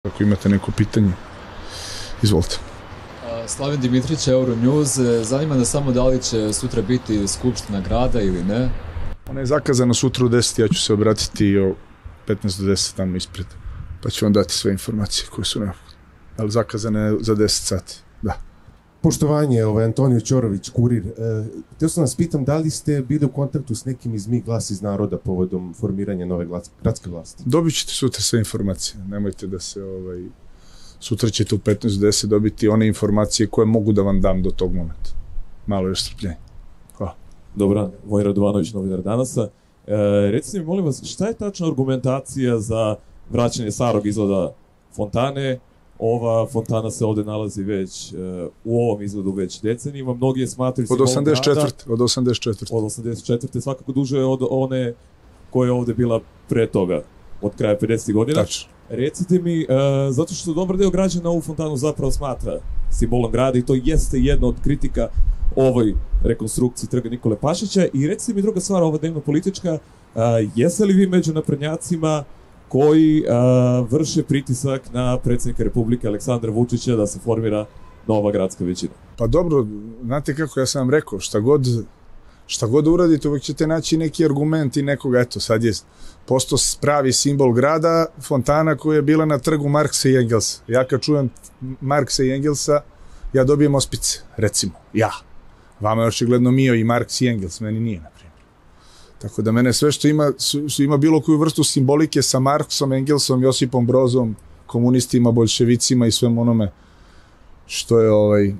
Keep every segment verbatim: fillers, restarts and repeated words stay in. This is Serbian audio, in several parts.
Ako imate neko pitanje, izvolite. Slaven Dimitrić, Euronews. Zanima nas samo da li će sutra biti skupština grada ili ne? Ona je zakazana sutra u deset, ja ću se obratiti o petnaest do deset tamo ispred, pa ću vam dati sve informacije koje su neophodne. Ali zakazana je za deset sati, da. Poštovanje, ovaj Antonio Ćorović, Kurir. E, htio sam vas pitam da li ste bili u kontaktu s nekim iz Mi glas iz naroda povodom formiranja nove gradske vlasti? Dobit ćete sutra sve informacije, nemojte da se ovaj... Sutra ćete u petnaest do deset dobiti one informacije koje mogu da vam dam do tog momenta. Malo još strpljenja. Hvala. Dobra, Vojin Radovanović, novinar Danasa. E, recite mi, molim vas, šta je tačna argumentacija za vraćanje starog izgleda fontane? Ova fontana se ovde nalazi već, uh, u ovom izgledu već decenijima. Mnogi je smatraju od osamdeset četvrte. Od osamdeset četvrte. Od osamdeset četvrte. Svakako duže od one koja je ovde bila pre toga, od kraja pedesetih godina. Tačno. Recite mi, uh, zato što dobar deo građana ovu fontanu zapravo smatra simbolom grada i to jeste jedna od kritika ovoj rekonstrukciji trga Nikole Pašića. I recite mi druga stvar, ova dnevno politička, uh, jeste li vi među naprednjacima koji uh, vrše pritisak na predsjednika Republike Aleksandra Vučića da se formira nova gradska većina? Pa dobro, znate kako ja sam vam rekao, šta god, šta god uradite, uvek ćete naći neki argument i nekoga, eto, sad je postao pravi simbol grada, fontana koja je bila na trgu Marksa i Engelsa. Ja kad čujem Marksa i Engelsa, ja dobijem ospice, recimo, ja. Vama je očigledno Mio i Marks i Engels, meni nije, na primjer. Tako da mene sve što ima, što ima bilo koju vrstu simbolike sa Marksom, Engelsom, Josipom Brozom, komunistima, boljševicima i svem onome što je ovaj,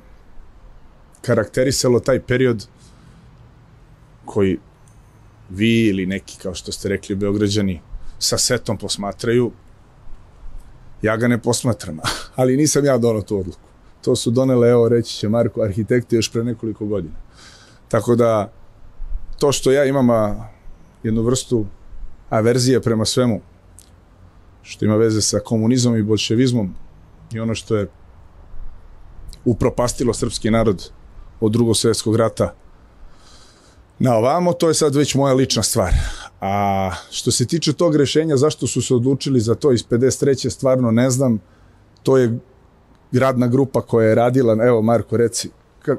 karakterisalo taj period koji vi ili neki, kao što ste rekli, Beograđani, sa setom posmatraju, ja ga ne posmatram, ali nisam ja donao tu odluku. To su donele, evo, reći će Marko, arhitekti još pre nekoliko godina. Tako da, to što ja imam a, jednu vrstu averzije prema svemu, što ima veze sa komunizmom i bolševizmom i ono što je upropastilo srpski narod od Drugog svjetskog rata na ovamo, to je sad već moja lična stvar. A što se tiče tog rešenja, zašto su se odlučili za to iz pedeset treće stvarno ne znam. To je radna grupa koja je radila, evo Marko, reci. Kak...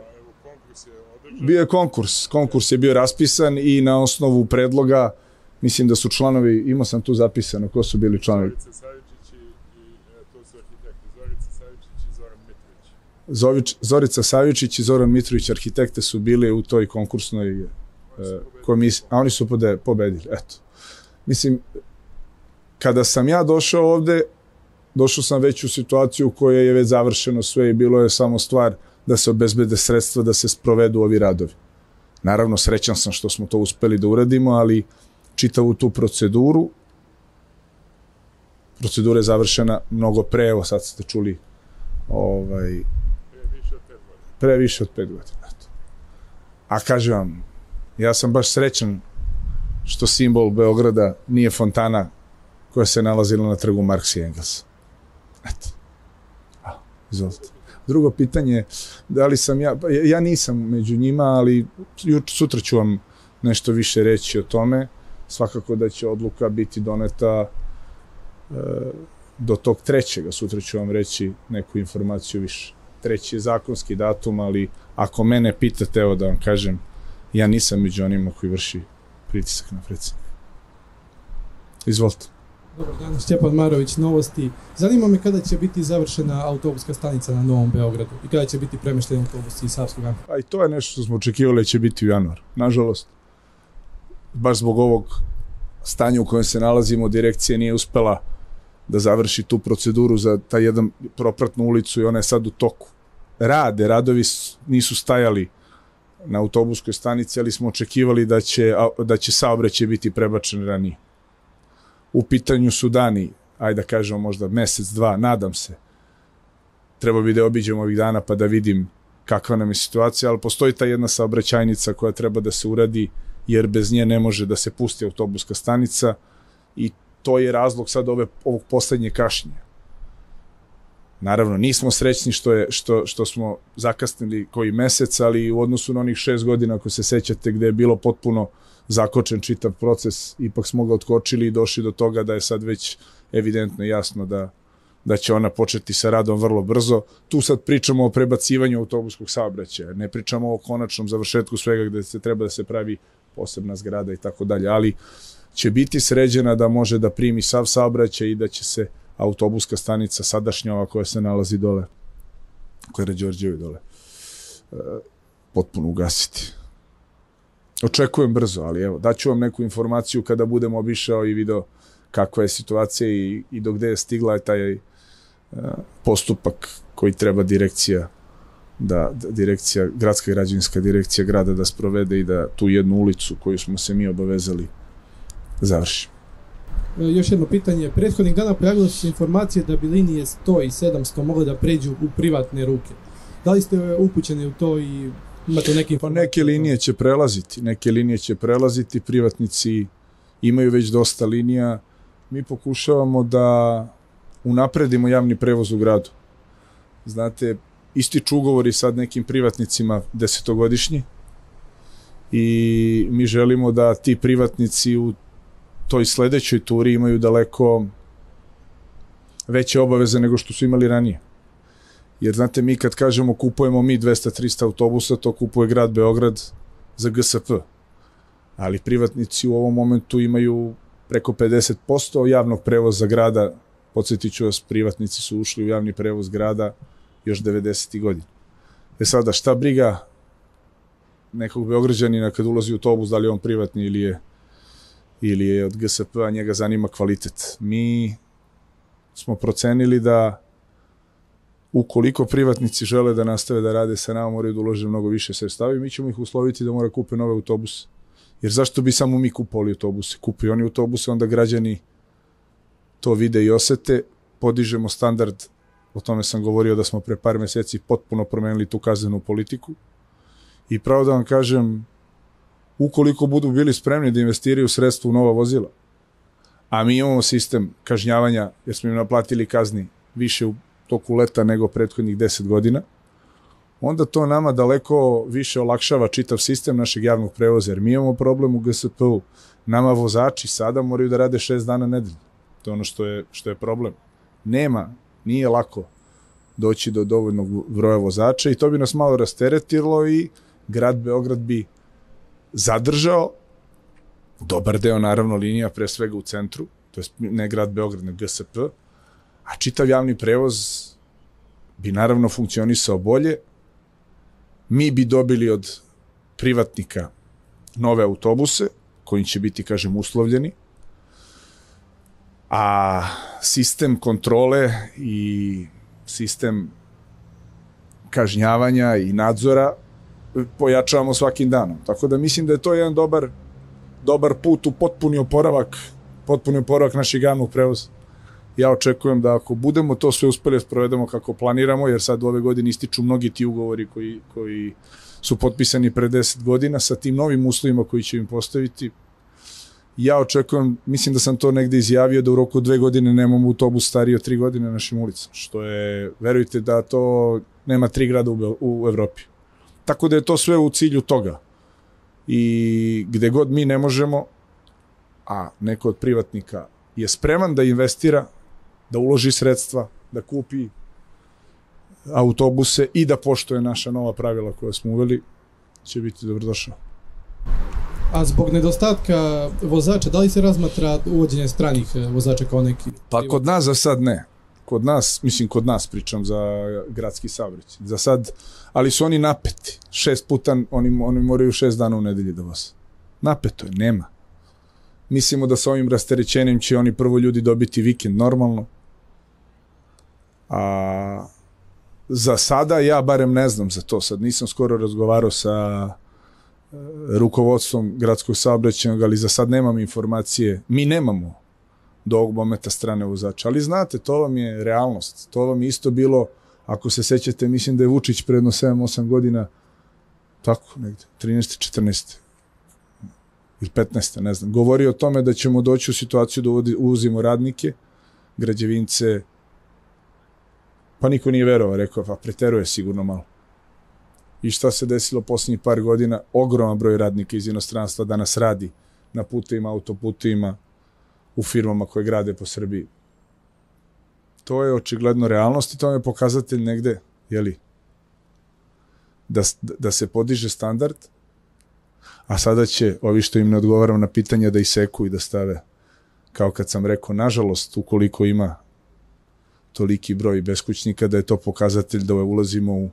Bio je konkurs, konkurs je bio raspisan i na osnovu predloga, mislim da su članovi, imao sam tu zapisano, ko su bili članovi? Zorica Savičić i, to su arhitekti, Zorica Savičić i Zoran Mitrović. Zović, Zorica Savičić i Zoran Mitrović, arhitekte, su bili u toj konkursnoj komisiji, a oni su pobedili, eto. Mislim, kada sam ja došao ovde, došao sam već u situaciju u kojoj je već završeno sve i bilo je samo stvar da se obezbede sredstva da se sprovedu ovi radovi. Naravno, srećan sam što smo to uspeli da uradimo, ali čitavu tu proceduru, procedura je završena mnogo pre, evo sad ste čuli, ovaj, pre više od pet godina. A kažem vam, ja sam baš srećan što simbol Beograda nije fontana koja se nalazila na trgu Marksa i Engelsa. Eto. A, izvolite. Drugo pitanje, da li sam ja, ja nisam među njima, ali sutra ću vam nešto više reći o tome. Svakako da će odluka biti doneta e, do tog trećega. Sutra ću vam reći neku informaciju više. Treći je zakonski datum, ali ako mene pitate, evo da vam kažem, ja nisam među onima koji vrši pritisak na predsjednika. Izvolite. Dobar dan, Stjepan Marović, Novosti. Zanima me kada će biti završena autobuska stanica na Novom Beogradu i kada će biti premješteni autobusi iz Savskog Amfiteatra. A i to je nešto što smo očekivali da će biti u januaru. Nažalost, baš zbog ovog stanja u kojem se nalazimo, direkcija nije uspela da završi tu proceduru za taj jedan propratnu ulicu i ona je sad u toku. Rade, radovi nisu stajali na autobuskoj stanici, ali smo očekivali da će, da će saobraćaj biti prebačen ranije. U pitanju su dani, ajde da kažemo možda mesec, dva, nadam se. Treba bi da obiđem ovih dana pa da vidim kakva nam je situacija, ali postoji ta jedna saobraćajnica koja treba da se uradi, jer bez nje ne može da se pusti autobuska stanica i to je razlog sad ove, ovog poslednje kašnjenja. Naravno, nismo srećni što, je, što, što smo zakasnili koji mesec, ali u odnosu na onih šest godina, ako se sećate, gde je bilo potpuno zakočen čitav proces, ipak smo ga otkočili i došli do toga da je sad već evidentno jasno da da će ona početi sa radom vrlo brzo. Tu sad pričamo o prebacivanju autobuskog saobraćaja, ne pričamo o konačnom završetku svega gde se treba da se pravi posebna zgrada i tako dalje, ali će biti sređena da može da primi sav saobraćaj i da će se autobuska stanica sadašnja ova koja se nalazi dole, koja je na Đorđevi dole, potpuno ugasiti. Očekujem brzo, ali evo, daću vam neku informaciju kada budem obišao i video kakva je situacija i, i do gde je stigla taj uh, postupak koji treba direkcija da, da direkcija, gradska građevinska direkcija grada da sprovede i da tu jednu ulicu koju smo se mi obavezali završi. Još jedno pitanje. Prethodnih dana pojavile su se informacije da bi linije sto i sedamsto mogle da pređu u privatne ruke. Da li ste upućeni u to i imate neke informacije? Pa neke linije će prelaziti, neke linije će prelaziti, privatnici imaju već dosta linija. Mi pokušavamo da unapredimo javni prevoz u gradu. Znate, ističu ugovori sad nekim privatnicima desetogodišnji i mi želimo da ti privatnici u toj sledećoj turi imaju daleko veće obaveze nego što su imali ranije. Jer znate, mi kad kažemo kupujemo mi dvesta do trista autobusa, to kupuje grad Beograd za G S P. Ali privatnici u ovom momentu imaju preko pedeset posto javnog prevoza grada. Podsjetit ću vas, privatnici su ušli u javni prevoz grada još devedesetih godina. E sada, šta briga nekog Beograđanina kad ulazi u autobus, da li je on privatni ili je ili je od G S P-a, njega zanima kvalitet. Mi smo procenili da ukoliko privatnici žele da nastave da rade sa nama, moraju da ulože mnogo više sredstava i mi ćemo ih usloviti da mora kupe nove autobuse. Jer zašto bi samo mi kupovali autobuse? Kupuju oni autobuse, onda građani to vide i osete, podižemo standard, o tome sam govorio da smo pre par meseci potpuno promenili tu kaznenu politiku i pravo da vam kažem, ukoliko budu bili spremni da investiraju sredstva u nova vozila, a mi imamo sistem kažnjavanja, jer smo im naplatili kazni više u toku leta nego prethodnih deset godina, onda to nama daleko više olakšava čitav sistem našeg javnog prevoza, jer mi imamo problem u G S P-u. Nama vozači sada moraju da rade šest dana nedeljno. To je ono što je, što je problem. Nema, nije lako doći do dovoljnog broja vozača i to bi nas malo rasteretilo i grad Beograd bi zadržao dobar deo, naravno, linija, pre svega u centru, to je ne grad Beograd, nego G S P, a čitav javni prevoz bi naravno funkcionisao bolje. Mi bi dobili od privatnika nove autobuse, koji će biti, kažem, uslovljeni, a sistem kontrole i sistem kažnjavanja i nadzora pojačavamo svakim danom. Tako da mislim da je to jedan dobar, dobar put u potpuni oporavak, potpuni oporavak našeg javnog prevoza. Ja očekujem da ako budemo to sve uspeli sprovedemo kako planiramo, jer sad u ove godine ističu mnogi ti ugovori koji, koji su potpisani pre deset godina sa tim novim uslovima koji će im postaviti. Ja očekujem, mislim da sam to negde izjavio, da u roku dve godine nemamo autobus stariji od tri godine na našim ulicama, što je, verujte da to nema tri grada u, u Evropi. Tako da je to sve u cilju toga. I gde god mi ne možemo, a neko od privatnika je spreman da investira, da uloži sredstva, da kupi autobuse i da poštuje naša nova pravila koja smo uveli, će biti dobrodošao. A zbog nedostatka vozača, da li se razmatra uvođenje stranih vozača kao neki? Pa kod nas za sad ne. Kod nas, mislim kod nas pričam za gradski saobraćaj. Za sad, ali su oni napeti. Šest puta, oni, oni moraju šest dana u nedelji da voze. Napeto je, nema. Mislimo da sa ovim rasterećenjem će oni prvo ljudi dobiti vikend normalno. A za sada ja barem ne znam za to. Sad nisam skoro razgovarao sa rukovodstvom gradskog saobraćajnog, ali za sad nemam informacije. Mi nemamo do ovog momenta strane vozača. Ali znate, to vam je realnost. To vam je isto bilo, ako se sećate, mislim da je Vučić predno sedam osam godina, tako negde, trinaeste četrnaeste ili petnaeste, ne znam, govori o tome da ćemo doći u situaciju da uvozimo radnike, građevince, pa niko nije verovao, rekao, pa preteruje sigurno malo. I šta se desilo poslednjih par godina? Ogroman broj radnika iz inostranstva danas radi na putevima, autoputevima, u firmama koje grade po Srbiji. To je očigledno realnost i to je pokazatelj negde, jeli, da, da se podiže standard, a sada će ovi što im ne odgovaram na pitanja da iseku i da stave, kao kad sam rekao, nažalost, ukoliko ima toliki broj beskućnika, da je to pokazatelj da ulazimo u,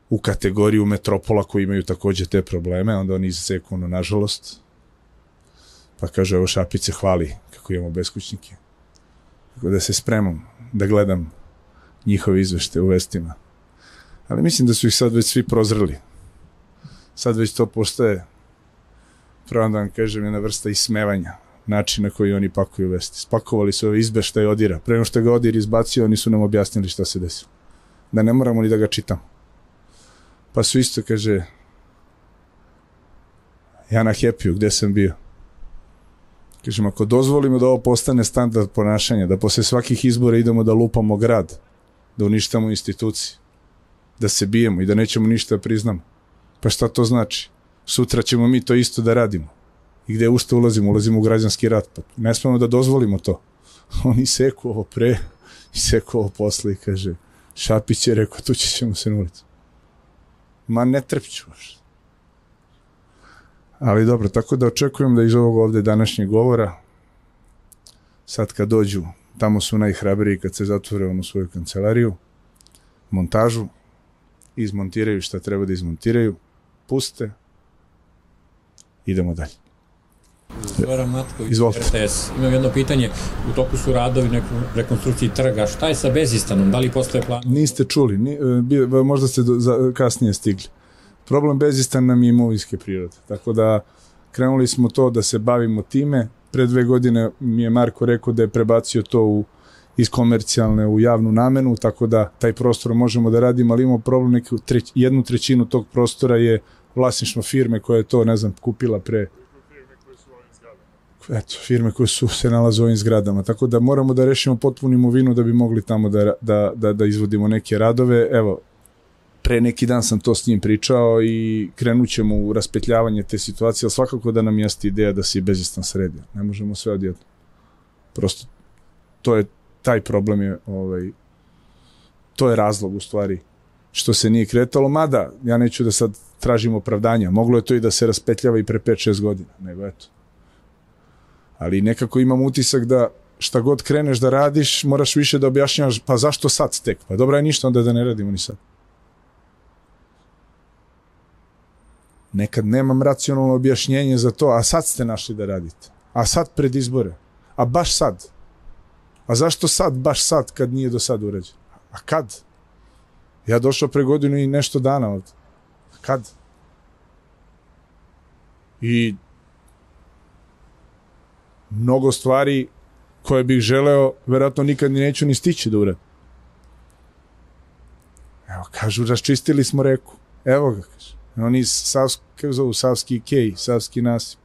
u kategoriju metropola koji imaju takođe te probleme, onda oni iseku, ono, nažalost, pa kaže, evo Šapić se hvali kako imamo beskućnike. Tako da se spremam da gledam njihove izvešte u vestima. Ali mislim da su ih sad već svi prozreli. Sad već to postaje, pravo da vam kažem, jedna vrsta ismevanja, način na koji oni pakuju vesti. Spakovali su ove izbeštaje Odira. Pre nego što ga Odir izbacio, oni su nam objasnili šta se desilo. Da ne moramo ni da ga čitamo. Pa su isto, kaže, ja na Happy-u, gde sam bio? Kažem, ako dozvolimo da ovo postane standard ponašanja, da posle svakih izbora idemo da lupamo grad, da uništamo institucije, da se bijemo i da nećemo ništa priznamo, pa šta to znači? Sutra ćemo mi to isto da radimo. I gde ušte ulazimo? Ulazimo u građanski rat. Pa ne smemo da dozvolimo to. Oni seku ovo pre i seku ovo posle i kaže, Šapić je rekao, tu ćemo se na ulicu. Ma ne trpću baš. Ali dobro, tako da očekujem da iz ovog ovde današnjeg govora, sad kad dođu, tamo su najhrabriji kad se zatvore onu svoju kancelariju, montažu, izmontiraju šta treba da izmontiraju, puste, idemo dalje. Zoran Matković, Izvolite. R T S. Imam jedno pitanje, u toku su radovi na rekonstrukciji trga, šta je sa Bezistanom, da li postoje plan? Niste čuli, ni, bi, možda ste do, za, kasnije stigli. Problem Bezistan nam je imovinske prirode, tako da krenuli smo to da se bavimo time. Pre dve godine mi je Marko rekao da je prebacio to u, iz komercijalne u javnu namenu, tako da taj prostor možemo da radimo, ali imamo problem, neku treć, jednu trećinu tog prostora je vlasništvo firme koja je to, ne znam, kupila pre... Eto, firme koje su se nalaze u ovim zgradama, tako da moramo da rešimo potpunu imovinu da bi mogli tamo da, da, da, da izvodimo neke radove. Evo, pre neki dan sam to s njim pričao i krenut ćemo u raspetljavanje te situacije, ali svakako da nam jeste ideja da se i Bezistan sredi. Ne možemo sve odjedno. Prosto, to je, taj problem je, ovaj, to je razlog u stvari što se nije kretalo, mada ja neću da sad tražim opravdanja, moglo je to i da se raspetljava i pre pet šest godina, nego eto. Ali nekako imam utisak da šta god kreneš da radiš, moraš više da objašnjavaš, pa zašto sad tek? Pa dobra je ništa onda da ne radimo ni sad. Nekad nemam racionalno objašnjenje za to, a sad ste našli da radite. A sad pred izbore. A baš sad. A zašto sad, baš sad, kad nije do sad urađeno? A kad? Ja došao pre godinu i nešto dana ovde. A kad? I mnogo stvari koje bih želeo, verovatno nikad ni neću ni stići da uradim. Evo, kažu, raščistili smo reku. Evo ga, kaže. Oni savski, kako zovu, savski kej, savski nasip.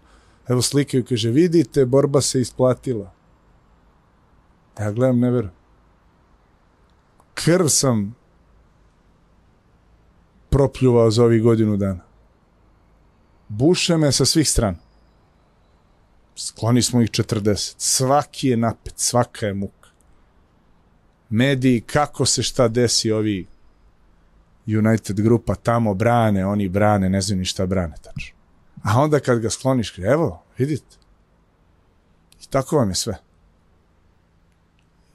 Evo slikaju, kaže, vidite, borba se isplatila. Ja gledam, ne verujem. Krv sam propljuvao za ovih godinu dana. Buše me sa svih strana. Skloni smo ih četrdeset. Svaki je napet, svaka je muka. Mediji, kako se šta desi, ovi United grupa tamo brane, oni brane, ne znam ni šta brane tačno. A onda kad ga skloniš, evo, vidite. I tako vam je sve.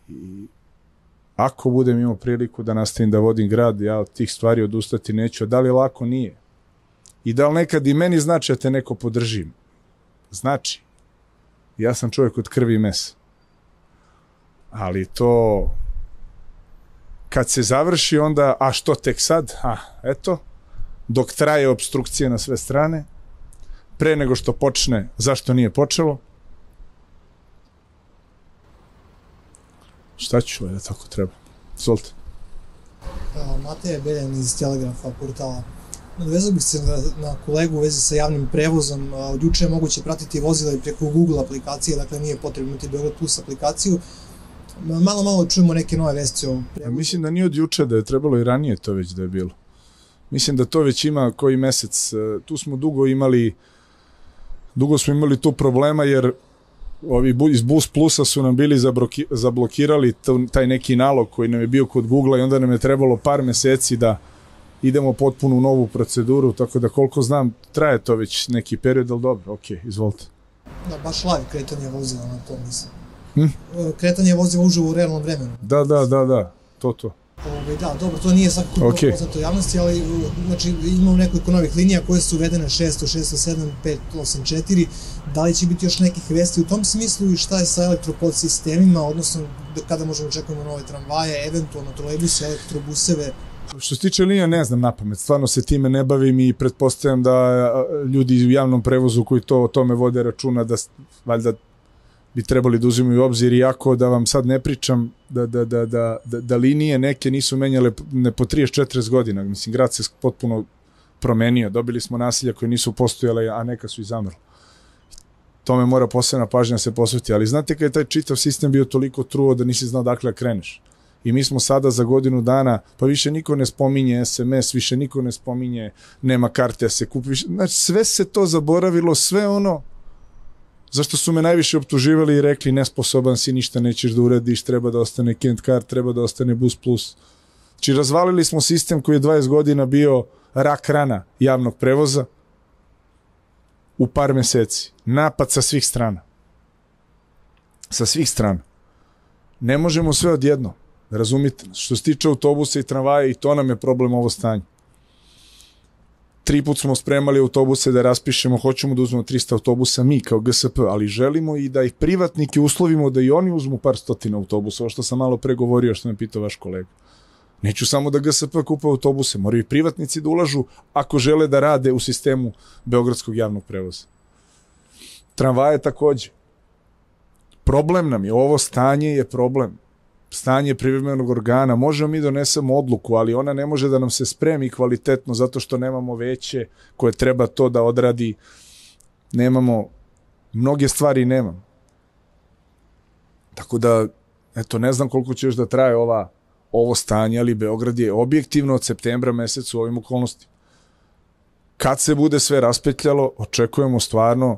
I ako budem imao priliku da nastavim da vodim grad, ja od tih stvari odustati neću. Da li lako? Nije. I da li nekad i meni znači da te neko podržim? Znači. Ja sam čovjek od krvi i mesa. Ali to... Kad se završi onda, a što tek sad? A, eto, dok traje obstrukcije na sve strane, pre nego što počne, zašto nije počelo? Šta ću, da tako treba. Izvolite. Mateja Beljan iz Telegrafa portala. Nadvezao bih se na, na kolegu u vezi sa javnim prevozom. Od juče je moguće pratiti vozila i preko Google aplikacije, dakle nije potrebno imati Beograd Plus aplikaciju. Malo, malo čujemo neke nove vesti o prevozu. Mislim da nije od juče, da je trebalo i ranije to već da je bilo. Mislim da to već ima koji mesec. Tu smo dugo imali, dugo smo imali tu problema jer ovi bu- iz Bus Plusa su nam bili zabroki, zablokirali t- taj neki nalog koji nam je bio kod Google-a i onda nam je trebalo par meseci da idemo potpuno u novu proceduru, tako da koliko znam, traje to već neki period, ali dobro, ok, izvolite. Da, baš live kretanje vozila na to mislim. Hm? Kretanje vozila uživo u realnom vremenu. Da, da, da, da, to, to. Ove, da, dobro, to nije svakako Okay. poznato javnosti, ali znači, imamo nekoliko novih linija koje su uvedene šesto, šesto sedam, pet osam četiri. Da li će biti još nekih vesti u tom smislu i šta je sa elektropodsistemima, odnosno kada možemo očekujemo nove tramvaje, eventualno trolejbuse, elektrobuseve? Što se tiče linija, ne znam napamet, stvarno se time ne bavim i pretpostavljam da ljudi u javnom prevozu koji to o tome vode računa da valjda bi trebali da uzimaju u obzir, iako da vam sad ne pričam da, da, da, da, da, da linije neke nisu menjale ne po trideset četrdeset godina, mislim grad se potpuno promenio, dobili smo nasilja koje nisu postojale, a neka su i zamrle. Tome mora posebna pažnja se posveti, ali znate kada je taj čitav sistem bio toliko truo da nisi znao dakle kreneš. I mi smo sada za godinu dana, pa više niko ne spominje es em es, više niko ne spominje, nema karte, se kupi više. Znači, sve se to zaboravilo, sve ono zašto su me najviše optuživali i rekli nesposoban si, ništa nećeš da uradiš, treba da ostane Kent Card, treba da ostane Bus Plus. Znači, razvalili smo sistem koji je dvadeset godina bio rak rana javnog prevoza u par meseci. Napad sa svih strana. Sa svih strana. Ne možemo sve odjedno. Razumite nas. Što se tiče autobusa i tramvaja, i to nam je problem ovo stanje. Tri put smo spremali autobuse da raspišemo, hoćemo da uzmemo trista autobusa mi kao G S P, ali želimo i da ih privatnike uslovimo da i oni uzmu par stotina autobusa, ovo što sam malo pregovorio, što me pitao vaš kolega. Neću samo da G S P kupa autobuse, moraju i privatnici da ulažu ako žele da rade u sistemu beogradskog javnog prevoza. Tramvaje takođe. Problem nam je, ovo stanje je problem. Stanje privremenog organa, možemo mi donesemo odluku, ali ona ne može da nam se spremi kvalitetno zato što nemamo veće koje treba to da odradi. Nemamo, mnoge stvari nemamo. Tako da, eto, ne znam koliko će još da traje ova, ovo stanje, ali Beograd je objektivno od septembra meseca u ovim okolnostima. Kad se bude sve raspetljalo, očekujemo stvarno.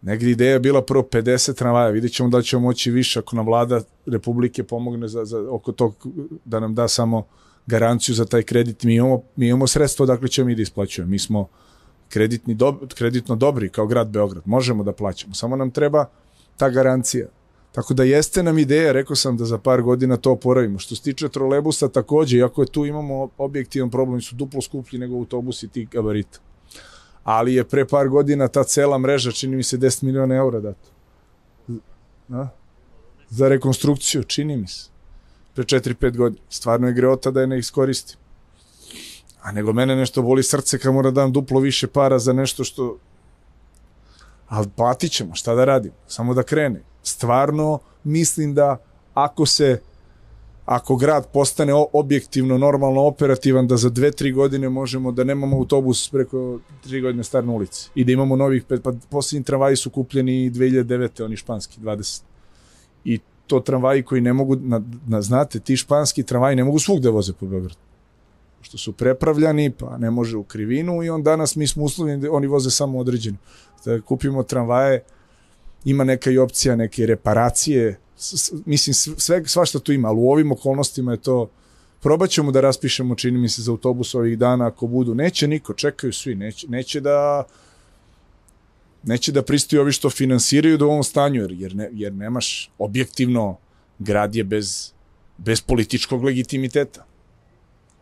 Negdje ideja je bila prvo pedeset tramvaja, vidjet ćemo da ćemo moći više ako nam vlada Republike pomogne za, za, oko tog, da nam da samo garanciju za taj kredit. Mi imamo, mi imamo sredstvo dakle ćemo mi da isplaćujemo. Mi smo kreditni dob, kreditno dobri kao grad Beograd, možemo da plaćamo, samo nam treba ta garancija. Tako da jeste nam ideja, rekao sam da za par godina to oporavimo. Što se tiče trolejbusa takođe, iako je tu imamo objektivan problem, su duplo skuplji nego autobusi tih gabarita. Ali je pre par godina ta cela mreža, čini mi se deset miliona eura dato. A? Za rekonstrukciju, čini mi se. Pre četiri pet godina. Stvarno je greota da je ne iskoristim. A nego mene nešto boli srce kad mora dam duplo više para za nešto što... Ali platit ćemo, šta da radimo? Samo da krene. Stvarno mislim da ako se... Ako grad postane objektivno, normalno operativan, da za dve, tri godine možemo da nemamo autobus preko tri godine star na ulici i da imamo novih pet, pa posljednji tramvaji su kupljeni dve hiljade devete, oni španski, dvadeset. I to tramvaji koji ne mogu, na, na, znate, ti španski tramvaji ne mogu svugde voze po Beogradu. Što su prepravljani, pa ne može u krivinu i on danas mi smo uslovljeni da oni voze samo određeno. Da kupimo tramvaje, ima neka i opcija, neke reparacije, mislim, sve, svašta tu ima, ali u ovim okolnostima je to, probat ćemo da raspišemo, čini mi se, za autobus ovih dana, ako budu, neće niko, čekaju svi, neće, neće da neće da pristaju ovi što finansiraju do ovom stanju, jer, jer, ne, jer nemaš, objektivno, grad je bez, bez političkog legitimiteta.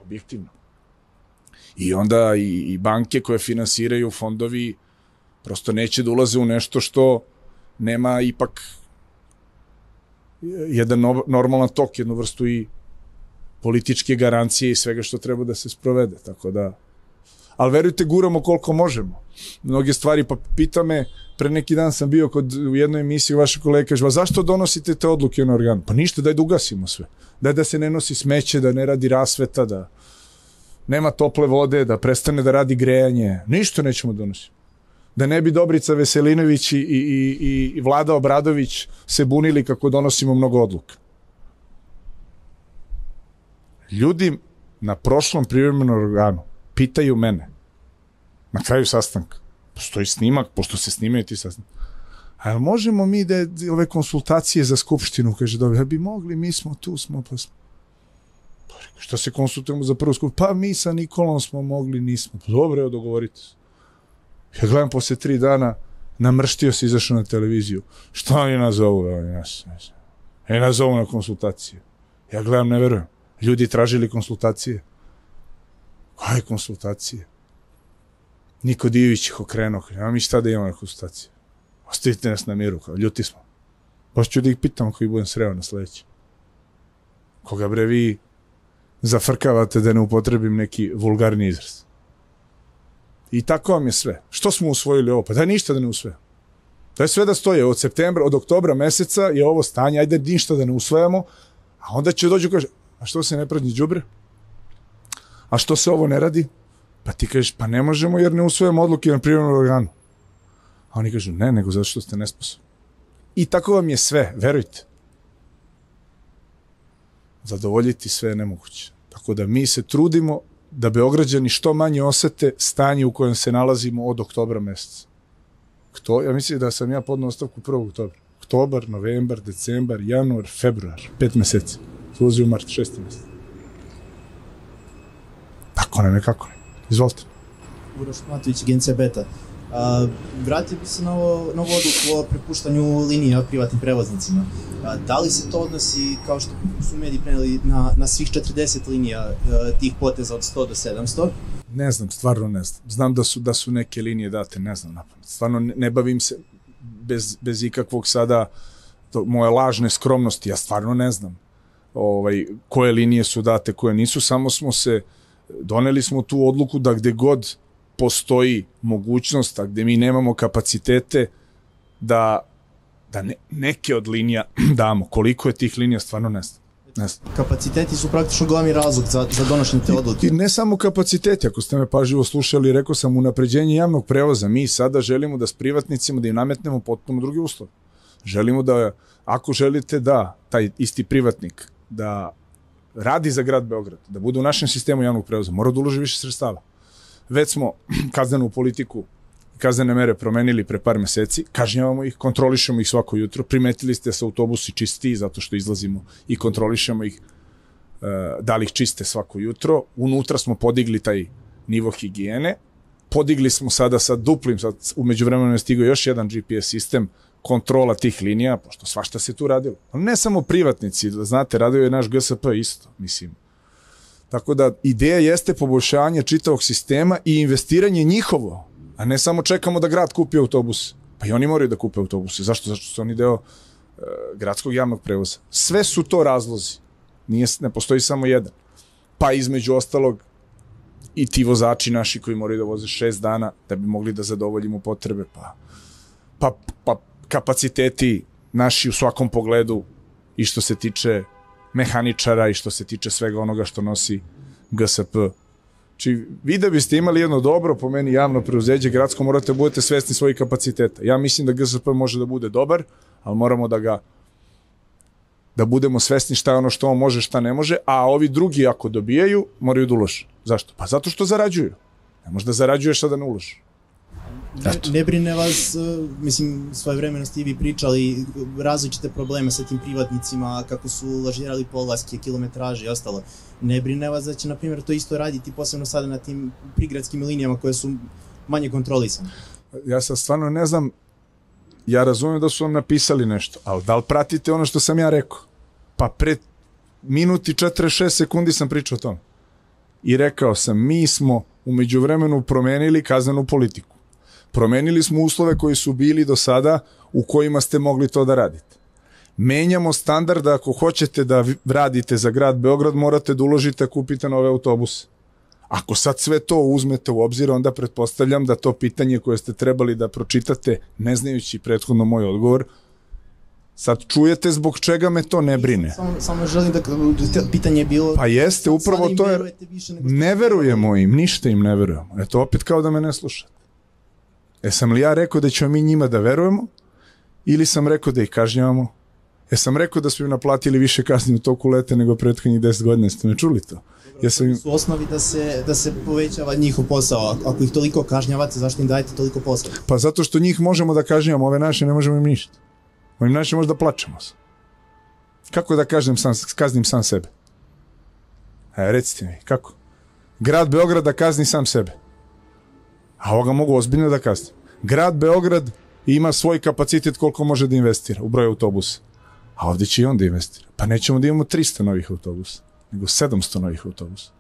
Objektivno. I onda i, i banke koje finansiraju fondovi prosto neće da ulaze u nešto što nema ipak jedan normalan tok, jednu vrstu i političke garancije i svega što treba da se sprovede, tako da, ali verujte, guramo koliko možemo. Mnoge stvari, pa pita me, pre neki dan sam bio kod, u jednoj emisiji vaše kolege, kaže, zašto donosite te odluke na organu? Pa ništa, daj da ugasimo sve. Daj da se ne nosi smeće, da ne radi rasveta, da nema tople vode, da prestane da radi grejanje. Ništa nećemo donositi. Da ne bi Dobrica Veselinović i, i, i, i Vlada Obradović se bunili kako donosimo mnogo odluka. Ljudi na prošlom privremenom organu pitaju mene na kraju sastanka, postoji snimak, pošto se snimaju ti sastanka, A možemo mi da ove konsultacije za skupštinu, kaže, dobro, ja bi mogli, mi smo tu, smo, pa smo. Što se konsultujemo za prvu skupštinu? Pa mi sa Nikolom smo mogli, nismo. Dobro, evo, dogovorite se. Ja gledam posle tri dana, namrštio se, izašao na televiziju. Šta oni nazovu? Oni nas, e, nazovu na konsultacije. Ja gledam, ne verujem. Ljudi tražili konsultacije. Koje konsultacije? Niko Divić ih okrenuo. Ja mi šta da imamo na konsultacije? Ostavite nas na miru, kao ljuti smo. Baš ću da ih pitam koji budem sreo na sledeći. Koga bre vi zafrkavate da ne upotrebim neki vulgarni izraz. I tako vam je sve. Što smo usvojili ovo? Pa daj ništa da ne usvojamo. Daj sve da stoje. Od septembra, od oktobra meseca je ovo stanje, ajde ništa da ne usvojamo, a onda će dođu kaže, a što se ne prazni đubre? A što se ovo ne radi? Pa ti kažeš, pa ne možemo jer ne usvojamo odluke na privremenom organu. A oni kažu, ne, nego zato što ste nesposobni. I tako vam je sve, verujte. Zadovoljiti sve je nemoguće. Tako da mi se trudimo da Beograđani što manje osete stanje u kojem se nalazimo od oktobra meseca. Kto? Ja mislim da sam ja podnao ostavku prvog oktobra. Oktobar, novembar, decembar, januar, februar, pet meseci. Ulazi u mart, šesti mesec. Tako nam je, kako ne. Izvolite. Uroš Matović, Agencija Beta. A, vratio bi se na, ovo, na ovu odluku o prepuštanju linija privatnim prevoznicima. A, da li se to odnosi, kao što su mediji preneli, na, na svih četrdeset linija a, tih poteza od sto do sedamsto? Ne znam, stvarno ne znam. Znam da su, da su neke linije date, ne znam napamet. Stvarno ne, ne bavim se bez, bez ikakvog sada to, moje lažne skromnosti. Ja stvarno ne znam ovaj, koje linije su date, koje nisu. Samo smo se, doneli smo tu odluku da gde god postoji mogućnost, a gde mi nemamo kapacitete da, da ne, neke od linija damo. Koliko je tih linija, stvarno ne znam. Ne znam. Kapaciteti su praktično glavni razlog za, za donošenje te odluke. I ne samo kapaciteti, ako ste me pažljivo slušali, rekao sam unapređenje javnog prevoza. Mi sada želimo da s privatnicima da im nametnemo potpuno drugi uslov. Želimo da, ako želite da taj isti privatnik da radi za grad Beograd, da bude u našem sistemu javnog prevoza, mora da uloži više sredstava. Već smo kaznenu politiku, kaznene mere promenili pre par meseci, kažnjavamo ih, kontrolišemo ih svako jutro, primetili ste da se autobusi čistiji zato što izlazimo i kontrolišemo ih da li ih čiste svako jutro. Unutra smo podigli taj nivo higijene, podigli smo sada sa duplim, sad umeđu vremenu je stigao još jedan G P S sistem, kontrola tih linija, pošto svašta se tu radilo. Ne samo privatnici, da znate, radio je naš G S P isto, mislim. Tako da ideja jeste poboljšanje čitavog sistema i investiranje njihovo, a ne samo čekamo da grad kupi autobus. Pa i oni moraju da kupe autobuse. Zašto? Zašto su oni deo e, gradskog javnog prevoza. Sve su to razlozi. Nije, ne postoji samo jedan. Pa između ostalog i ti vozači naši koji moraju da voze šest dana da bi mogli da zadovoljimo potrebe. Pa, pa, pa kapaciteti naši u svakom pogledu i što se tiče mehaničara i što se tiče svega onoga što nosi G S P. Či vi da biste imali jedno dobro, po meni javno preuzeđe gradsko, morate da budete svesni svojih kapaciteta. Ja mislim da G S P može da bude dobar, ali moramo da ga da budemo svesni šta je ono što on može, šta ne može, a ovi drugi ako dobijaju, moraju da ulože. Zašto? Pa zato što zarađuju. Ne može da zarađuješ, a da ne uloži. Ne, ne brine vas, mislim, svoje vremeno ste i vi pričali različite probleme sa tim privatnicima, kako su lažirali polaske, kilometraže i ostalo. Ne brine vas da će, na primjer, to isto raditi posebno sada na tim prigradskim linijama koje su manje kontrolisane? Ja sad stvarno ne znam, ja razumijem da su vam napisali nešto, ali da li pratite ono što sam ja rekao? Pa pred minuti četrdeset šest sekundi sam pričao o tom. I rekao sam, mi smo umeđu vremenu promenili kaznenu politiku. Promenili smo uslove koji su bili do sada u kojima ste mogli to da radite. Menjamo standard da ako hoćete da radite za grad Beograd, morate da uložite, kupite nove autobuse. Ako sad sve to uzmete u obzir, onda pretpostavljam da to pitanje koje ste trebali da pročitate, ne znajući prethodno moj odgovor, sad čujete zbog čega me to ne brine. Samo, samo želim da, pitanje je bilo... Pa jeste, upravo to je... Ne verujemo im, ništa im ne verujemo. Eto, opet kao da me ne slušate. E, sam li ja rekao da ćemo mi njima da verujemo ili sam rekao da ih kažnjavamo? Jesam rekao da smo im naplatili više kazni u toku leta nego prethodnih deset godina, ste me čuli to? Jesam im... su osnovi da se, da se povećava njihov posao, ako ih toliko kažnjavate, zašto im dajete toliko posla? Pa zato što njih možemo da kažnjavamo, ove naše ne možemo im ništa. Ovim naše možda plačemo se. Kako da kažem sam, kaznim sam sebe? E, recite mi, kako? Grad Beograd da kazni sam sebe. A ovoga mogu ozbiljno da kaznim. Grad Beograd ima svoj kapacitet koliko može da investira u broj autobusa. A ovdje će i on da investira. Pa nećemo da imamo tristo novih autobusa, nego sedamsto novih autobusa.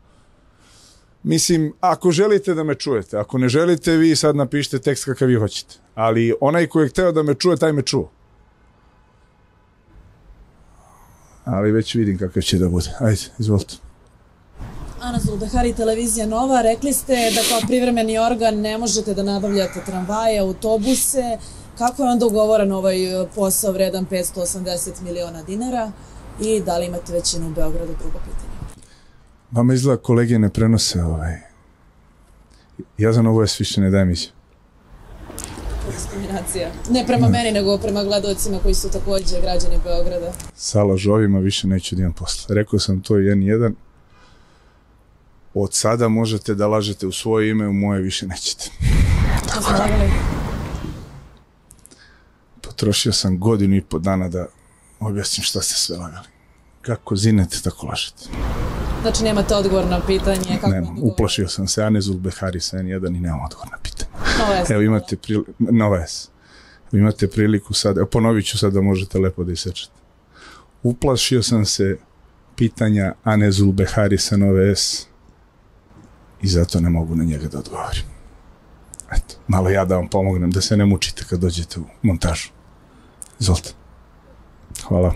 Mislim, ako želite da me čujete, ako ne želite, vi sad napišite tekst kakav vi hoćete. Ali onaj koji je hteo da me čuje, taj me čuo. Ali već vidim kakav će da bude. Ajde, izvolite. Ana Zulbehari, televizija Nova, rekli ste da kao privremeni organ ne možete da nabavljate tramvaje, autobuse. Kako je onda ugovoran ovaj posao vredan petsto osamdeset miliona dinara i da li imate većinu u Beogradu? Drugo pitanje. Vama izgleda kolege ne prenose ovaj... Ja za Novu S više ne dajem izjavu. Diskriminacija. Ne prema ne. meni, nego prema gledalcima koji su također građani Beograda. Sa lažovima više neću da imam posla. Rekao sam to jedan jedan. Od sada možete da lažete u svoje ime, u moje više nećete. Što smo lagali? Potrošio sam godinu i po dana da objasnim šta ste sve lagali. Kako zinete, tako lažete. Znači nemate odgovor na pitanje? Kako nemam, uplašio sam se, Ane Zulbehari sa en jedan i nemam odgovor na pitanje. Nova S. Evo imate priliku, Nova S. Imate priliku sad, evo ponovit ću sad da možete lepo da isečete. Uplašio sam se pitanja Ane Zulbehari sa Nove S i zato ne mogu na njega da odgovorim. Eto, malo ja da vam pomognem, da se ne mučite kad dođete u montažu. Izvolite. Hvala.